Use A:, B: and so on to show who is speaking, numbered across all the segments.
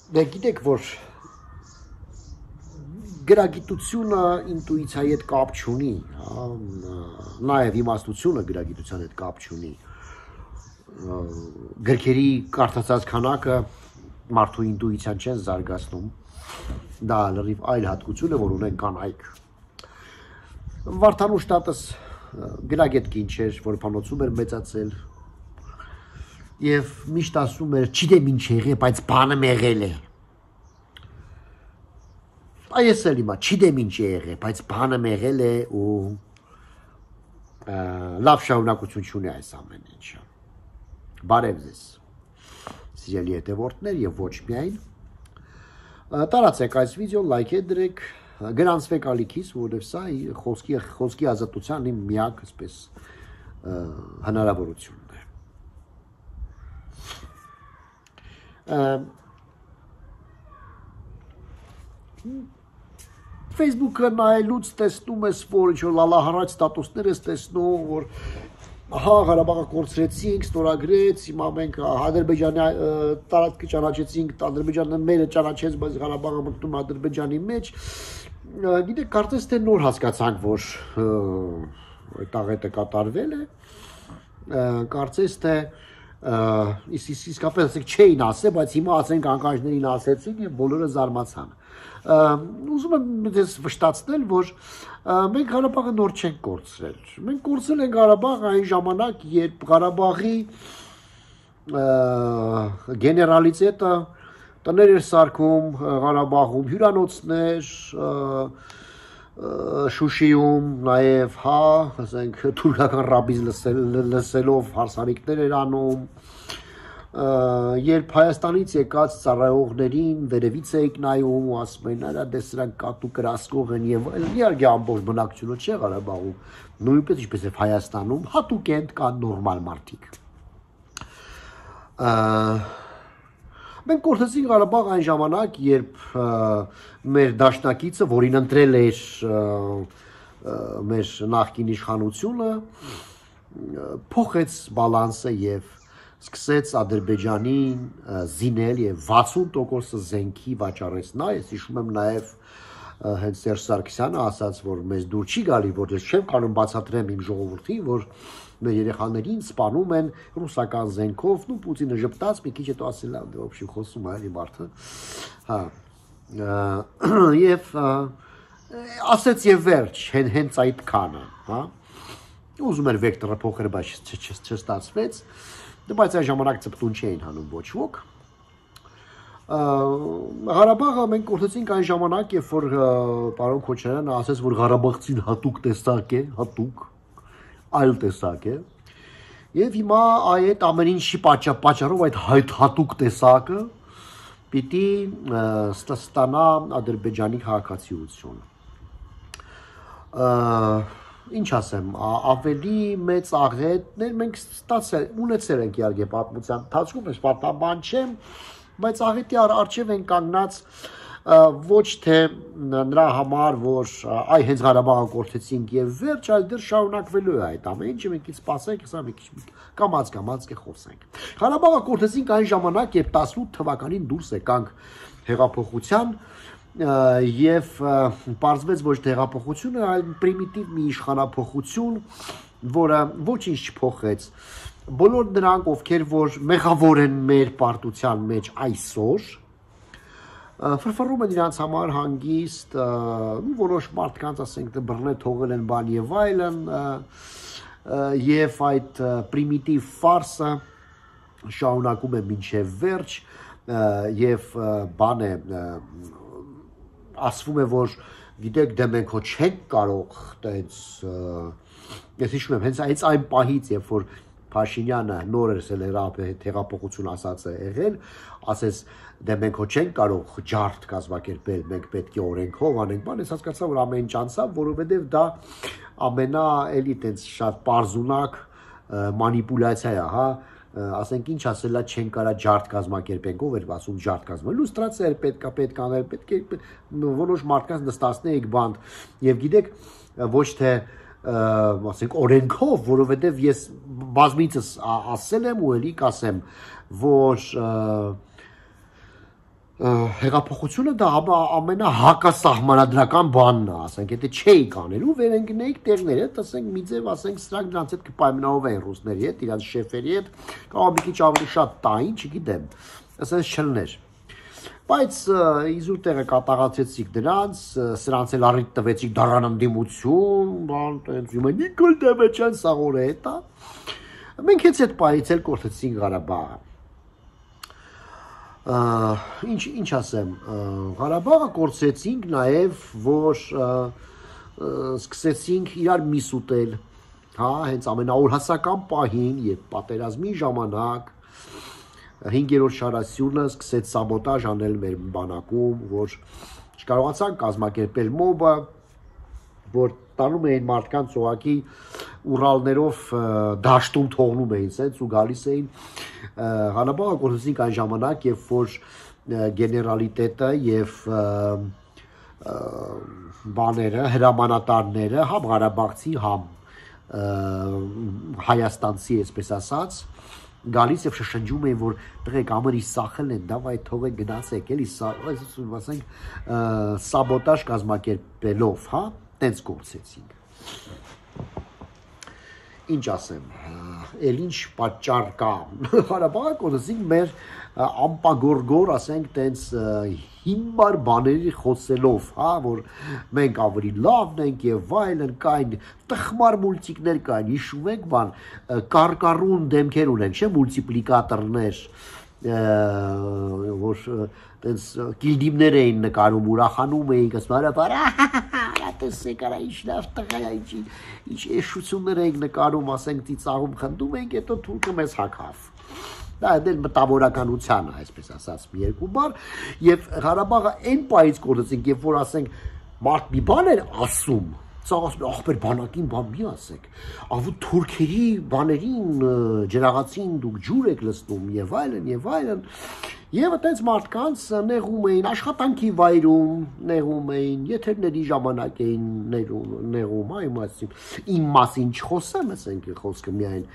A: Դե գիտեք, որ գրագիտությունը ինտուիցիայի հետ կապ չունի, նաև իմաստությունը գրագիտության հետ կապ չունի։ Գրքերի կարդացած քանակը մարդու ինտուիցիան չեն զարգացնում, դա լրիվ այլ հատկություն է, որ ունեն կանայք։ Վարդանուշ տատս գրագետ կին չէր, որ փանոցում էր մեծացել եւ միշտ ասում էր, չգիտեմ ինչ եղե, բայց բանը եղել է։ Այս էլ իմա, չգիտեմ ինչ եղե, բայց բանը եղել է ու լավ շարունակություն չունի այս ամեն ինչը։ Բարև ձեզ, սիրելի հետևորդներ եւ ոչ միայն։ Տարածեք այս վիդեոն, լայք դրեք, գրանցվեք ալիքից, որովհետեւ սա խոսքի ազատության իմ միակ, այսպես, հնարավորությունն է։ Facebook-ը նայելուց տեսնում ես, որ ինչ-որ լալահարած ստատուսներ ես տեսնում, որ հա Ղարաբաղը կորցրեցինք, ստորագրեց, հիմա մենք Ադրբեջանի տարածքը ճանաչեցինք, Ադրբեջանը մերը ճանաչեց, բայց Ղարաբաղը մտնում Ադրբեջանի մեջ։ Գիտեք, կարծես թե նոր հասկացանք, որ այդ աղետը կատարվել է, կարծես թե իսկապես չէին ասել, բայց հիմա ասենք անկաշներին ասեցին եւ բոլորը զարմացան։ Ուզում եմ դες վշտացնել, որ մենք Ղարաբաղը նոր չենք կորցրել։ Մենք կորցրել ենք Ղարաբաղը այն ժամանակ, երբ Ղարաբաղի գեներալիտետը տներ էր սարքում Ղարաբաղում, հյուրանոցներ, Շուշիում, նաև, հա, ասենք, թուրքական ռաբիզ լսելով հարսանիքներ էր անում, երբ Հայաստանից եկած ծառայողներին վերևից էիք նայում ու ասում էին, արա դե սրանք կատու կրասկող են եւ այլն, իհարկե ամբողջ բնակչությունը չէ Ղարաբաղում, նույնպես ինչպես եւ Հայաստանում, հատուկ են կան նորմալ մարդիկ։ Մենք կորցրեցինք Ղարաբաղ այն ժամանակ, երբ մեր դաշնակիցը, որին ընտրել էր մեր նախկին իշխանությունը, փոխեց բալանսը եւ սկսեց Ադրբեջանին զինել եւ 60% զենքի վաճառեց նա, ես հիշում եմ նաեւ հենց Սերժ Սարգսյանը ասաց, որ մեզ դուր չի գալի, որ ես չեմ կարող բացատրեմ իմ ժողովրդին, որ մեր երեխաներին սպանում են ռուսական զենքով, ու Պուտինը ժպտաց, մի քիչ հետո ասել է, դե ոբշի խոսում է էլի մարդը, հա, եւ ասեց եւ վերջ, հենց այդքանը, հա, ուզում էր վեկտորը փոխել, բայց չստացվեց, բայց այն ժամանակ ծպտուն չէին հանում ոչ ոք։ Ղարաբաղը մենք կորցրեցինք այն ժամանակ, երբ որ պարոն Քոչարյանը ասեց, որ Ղարաբաղցին հատուկ տեսակ է, հատուկ այլ տեսակ է, եւ հիմա այդ ամեն ինչի պատճառով այդ հատուկ տեսակը պիտի ստանա Ադրբեջանի քաղաքացիություն։ Ինչ ասեմ, ավելի մեծ աղետներ մենք ունեցել ենք իհարկե պատմության ընթացքում, ես պատմաբան չեմ, բայց աղետի առջև են կանգնած ոչ թե նրա համար, որ այ հենց Ղարաբաղը կորցրեցինք եւ վերջ, այլ դեռ շարունակվելու է այդ ամեն ինչը, մենք սպասենք, հեսա մի քիչ կամած կխոսենք։ Ղարաբաղը կորցրեցինք այն ժամանակ, երբ 18 թվականին դուրս եկանք հեղափոխության եւ պարզվեց ոչ թե հեղափոխությունը, այլ պրիմիտիվ մի իշխանափոխություն, որը ոչինչ չփոխեց։ Բոլոր նրանք, ովքեր որ մեղավոր են մեր պարտության մեջ այսօր, ֆրֆռում են իրանց համար հանգիստ, որոշ մարդկանց, ասենք, բռնե թողել են բան եւ այլն, եւ այդ պրիմիտիվ ֆարսը շարունակում է մինչեւ վերջ, եւ բան է, ասվում է, որ գիտեք, դե մենք հո չենք կարող տենց, ես հիշում եմ, հենց այն պահից, երբ որ Փաշինյանը նոր հեղափոխություն ասած է եղել, ասեց, դե մենք հո չենք կարող ջարդ կազմակերպել, մենք պետք է օրենքով անենք, բան, ես հասկացա, որ ամեն ինչ անցավ, որովհետև դա ամենա էլի տենց շատ պարզունակ մանիպուլյացիա է, հա, ասենք ինչ ասելա չեն կարա ջարդ կազմակերպենք, ով էր ասում ջարդ կազմակերպել, լուստրացիա էր պետք անել, պետք է որոշ մարդկանց նստացնեիք բանդ, եւ գիտեք, ոչ թե ասենք օրենքով, որովհետև ես բազմիցս ասել եմ ու էլի կասեմ, որ հեղափոխությունը դա ամենահակասահմանադրական բանն է, ասենք, եթե չէի կանելու, վերընկնեիք տեղները, ասենք, մի ձև, ասենք, սրանք դրանց հետ կպայմանավորվեին ռուսների հետ, իրանց շեֆերի հետ, կամ մի քիչ ավելի շատ տային, չգիտեմ, ասենց չլներ։ Բայց իզուր տեղը կատաղացեցիք դրանց, սրանց էլ առիթ տվեցիք դարան ընդդիմություն, բան, տենց Նիկոլ Դևեչյան սաղորը հետա։ Մենք հենց այդ պահից էլ կորցրեցինք Ղարաբաղը։ Ինչ ասեմ, Ղարաբաղը կորցրեցինք նաև, որ սկսեցինք իրար միս ուտել, հա, հենց ամենաօրհասական պահին, երբ պատերազմի ժամանակ 5-րդ շարասյունը սկսեց սաբոտաժ անել մեր բանակում, որ չկարողացան կազմակերպել մոբը, որ տանում էին մարդկանց ուղղակի Ուրալներով դաշտում թողնում էին սենց ու գալիս էին Ղարաբաղը կորցրեցինք այն ժամանակ, երբ որ գեներալիտետը եւ բաները, հրամանատարները համ Ղարաբաղցի, համ հայաստանցի, այսպես ասած, գալիս եւ շշնջում էին, որ տղեկ ամրի սախել են, դավայ թողեք գնացեք, էլի ասենք սաբոտաժ կազմակերպելով, հա, տենց կորցեցինք։ Ինչ ասեմ, էլ ինչ պատճառ կա, Ղարաբաղը կորցրեցինք մեր ամպագորգոր, ասենք, տենց հիմար բաների խոսելով, հա, որ մենք ավելի լավն ենք եւ այլն, կային տխմար մուլտիկներ կային, հիշում եք բան, կարկառուն դեմքեր ունեն, չէ, մուլտիպլիկատորներ, որ տենց կիլդիմներ էին նկարում, ուրախանում էին, ասում տեսեք արա ինչ լավ տղա է, ինչ էշություններ էինք նկարում, ասենք ծիծաղում խնդում էինք, հետո թուրքը մեզ հագավ։ Դա էլ մտավորականության է, այսպես ասած, մի երկու բառ, եւ Ղարաբաղը այն պահից կորցրեցինք, երբ որ ասենք մարդ մի բան էր ասում, սա ասում է ախպեր բանակին բան մի ասեք, ավու թուրքերի բաներին ջրաղացին դուք ջուր եք լցնում եւ այլն եւ այտենց մարդկանց նեղում էին աշխատանքի վայրում, նեղում էին, եթերների ժամանակ էին նեղում, այ իմ մասին չխոսեմ, ասենք խոսքը միայն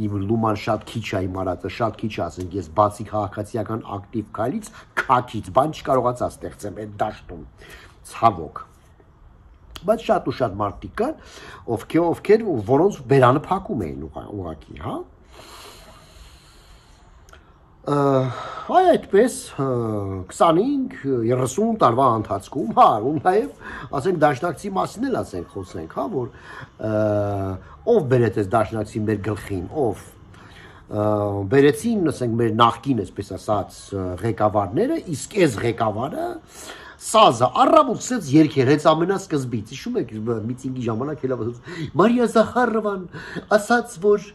A: իմ լուման շատ քիչ է իմ արածը, շատ քիչ է, ասենք ես բացի քաղաքացիական ակտիվ քայլից, քաքից բան չկարողացա ստեղծեմ այդ դաշտում, ցավոք։ Բայց շատ ու շատ մարդիկ կան, ովքեր որոնց բերանը փակում էին ուղղակի, հա։ Այ այդպես 25-30 տարվա ընթացքում, հա, ու նաև ասենք դաշնակցի մասին էլ ասենք խոսենք, հա, որ ով բերեց այս դաշնակցի մեր գլխին, ով բերեցին, ասենք մեր նախկին, այսպես ասած, ղեկավարները, իսկ այս ղեկավարը Սազը առավոտ սկսեց երգեր, հենց ամենասկզբից, հիշում եք միտինգի ժամանակ հելավ ասաց Մարիա Զախարովան ասաց, որ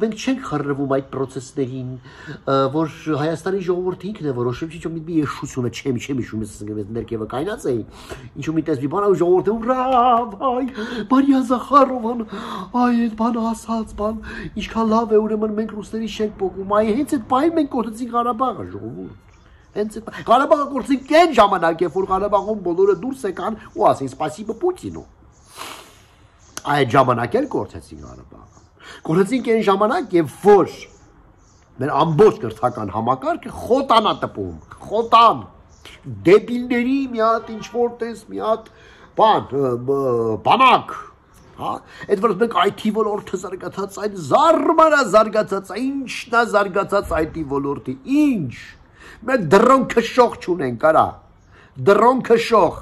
A: մենք չենք խռրվում այդ պրոցեսներին, որ Հայաստանի ժողովուրդը ինքն է որոշում, ինչ-որ մի եշություն է, չեմ հիշում, ներքևը կայնած էի, ինչ-որ մի տես մի բան, ժողովուրդը ուրա, այ Մարիա Զախարովան, այ այդ բանը ասաց, բան, ինչքան լավ է, ուրեմն մենք ռուսների չենք պոկում, այ հենց այդ պահին մենք կորցրեցինք Ղարաբաղը, ժողովուրդ։ Ղարաբաղը կորցրեցինք այն ժամանակ, երբ որ Ղարաբաղում բոլորը դուրս եկան ու ասին սպասիբը Պուտինու։ Այդ ժամանակ էլ կորցրեցինք Ղարաբաղը։ Կորցրեցինք այն ժամանակ, երբ որ մեր ամբողջ կրթական համակարգը խոտանա տպում, խոտան, դեբիլների մի հատ ինչ-որ տես, մի հատ բանակ, հա, այդ որ մենք IT ոլորտը զարգացած, այդ զարմանա զարգացած, ինչն է զարգացած IT ոլորտի, ինչ Մենք դրոն քշող չունենք, արա, դրոն քշող,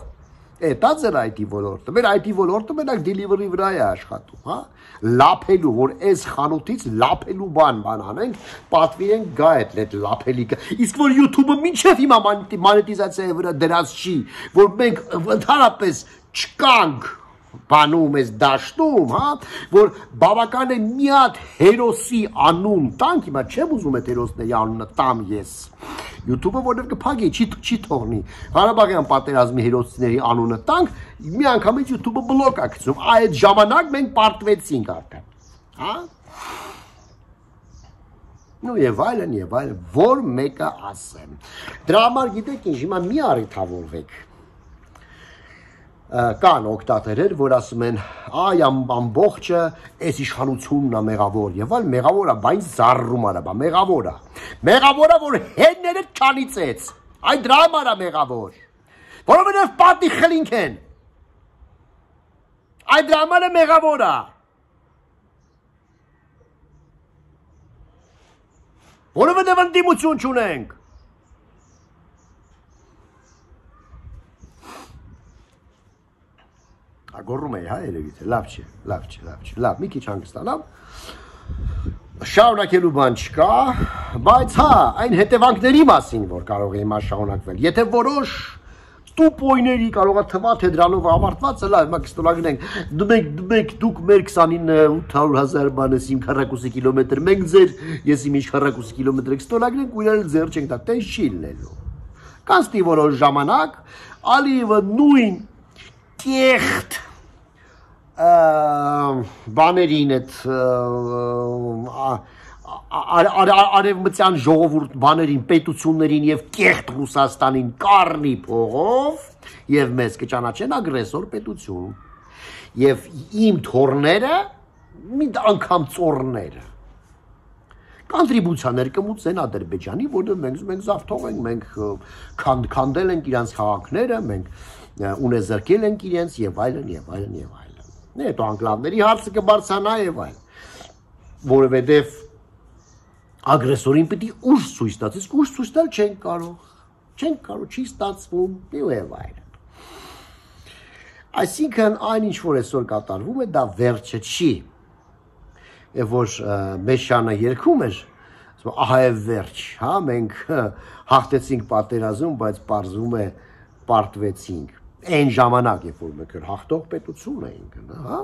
A: դա ձեր IT ոլորտը, մեր IT ոլորտը մենակ delivery վրա է աշխատում, հա, լափելու, որ այս խանութից լափելու բան անենք, պատվիրենք գա այդ լափելիկը, իսկ որ YouTube-ը մինչև հիմա մանետիզացիայի վրա դրած չի, որ մենք ընդհանրապես չկանք բանում ես դաշտում, հա, որ բավական է մի հատ հերոսի անուն տանք, հիմա չեմ ուզում այդ հերոսների անունը տամ ես, YouTube-ը որև կփակի, չի թողնի, Ղարաբաղյան պատերազմի հերոսների անունը տանք, մի անգամից YouTube-ը բլոկ է գցում, այդ ժամանակ մենք պարտվեցինք արդեն, հա, նու եւ այլն, որ մեկը ասեմ, դրա համար գիտեք ինչ, հիմա մի առիթավորվեք, կան օգտատերեր, որ ասում են, այ ամբողջը այս իշխանությունն է մեղավոր, եւ այլ մեղավոր է, բայց զարռում արա, մեղավոր է, որ հենները չանիծեց, Այդ դրա համար է մեղավոր, որովհետև պատի խլինք են, այդ դրա համար է մեղավոր է, որովհետև ընդդիմություն չունենք, Գոռում էի, հա, երևի թե, լավ չէ, լավ, մի քիչ հանգստանամ, շարունակելու բան չկա, բայց հա, այն հետևանքների մասին, որ կարող է հիմա շարունակվել, եթե որոշ տուպոյների կարող է թվա, թե դրանով ավարտված է, լավ, հիմա կստոլագնենք, դուք մեր 29,800,000 բանես իմ քառակուսի կիլոմետր, մենք ձեր, ես իմ ինչ քառակուսի կիլոմետր եք ստոլագնենք ու իրար ձեր չենք տա, տես չի լինելու, կանցնի որոշ ժամանակ, Ալիևը նույն կեղտ բաներին այդ արևմտյան ժողովուրդ բաներին, պետություններին և կեղտ Ռուսաստանին կառնի փողով և մեզ կճանաչեն ագրեսոր պետություն և իմ թոռները մի անգամ ծոռները կոնտրիբուցիաներ կմուծեն Ադրբեջանի, որը մենք զարթող ենք, մենք քանդել ենք իրանց քաղաքները, մենք ունեզրկել ենք իրենց և այլն և այլն և այլն հետո անկլավների հարցը կբարձրանա և այլն, որովհետև ագրեսորին պիտի ուժ ցույց տաց, իսկ ուժ ցույց տալ չենք կարող, չի ստացվում և այլն։ Այսինքն այն ինչ որ այսօր կատարվում է, դա վերջը չի, և որ Մեշյանը երգում էր, ահա է վերջ, հա, մենք հաղթեցինք պատերազմ, բայց պարզվում է պարտվեցինք, այն ժամանակ, երբ որ մենք հաղթող պետություն էինք, հա,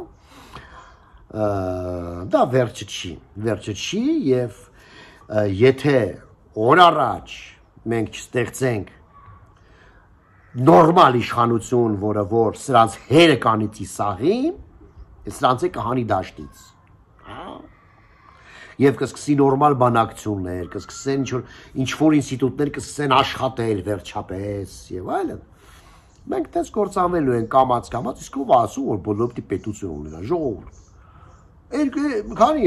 A: դա վերջը չի և եթե օր առաջ մենք չստեղծենք նորմալ իշխանություն, որը որ սրանց հերը կանիցի սաղի, սրանց է կհանի դաշտից, և կսկսի նորմալ բանակցություններ, կսկսեն ինչ-որ ինստիտուտներ կսկսեն աշխատել վերջապես և այլն, մենք տես կործանվելու են կամաց, իսկ ով ասում, որ բոլորը պիտի պետություն ունենա, ժողովուրդ, քանի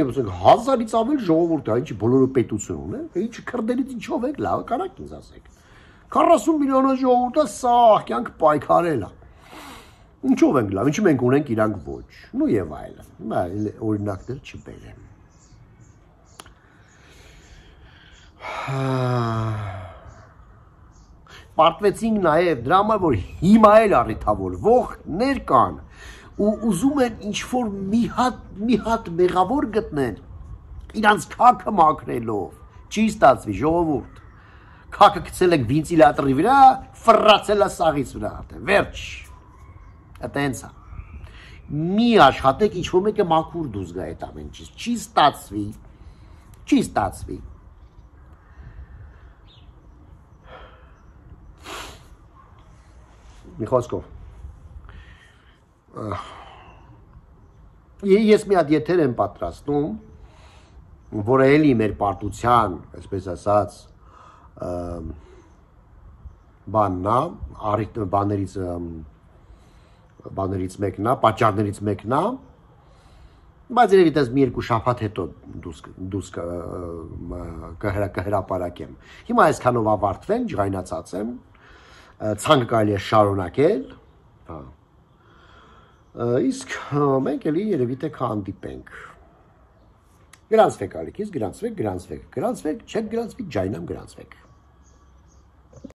A: հազարից ավել ժողովուրդ է, ինչի բոլորը պետություն ունեն, ինչի քրդերից ինչով եք, լավ կարակ ինձ ասեք, 40 միլիոնը ժողովուրդը սաղ կյանք պայքարել է, ինչով ենք լավ, ինչի մենք ունենք իրանք ոչ, նու և այլն, օրինակներ չբերեմ։ Պարտվեցինք նաև դրա համար, որ հիմա էլ առիթավորվողներ կան ու ուզում են ինչ-որ մի հատ մեղավոր գտնեն, իրանց քաքը մաքրելով, չի ստացվի ժողովուրդ, քաքը գցել եք վինտիլյատորի վրա, ֆռացել է սաղից վրա, վերջ, այտենց է, մի աշխատեք ինչ-որ մեկը մաքուր դուրս գա այդ ամեն ինչից, չի ստացվի, մի խոսքով, ես մի հատ եթեր եմ պատրաստում, որը էլի մեր պարտության, այսպես ասած, բաներից մեկն է, պատճառներից մեկն է, բայց երևի տես մի երկու շաբաթ հետո դուրս կհրապարակեմ։ Հիմա այսքանով ավարտվենք, ջղայնացած եմ, ցանկը կարելի է շարունակել, իսկ մենք էլի երևի թե կհանդիպենք։ Գրանցվեք ալիքից, գրանցվեք, չեք գրանցվի, ջայնամ գրանցվեք։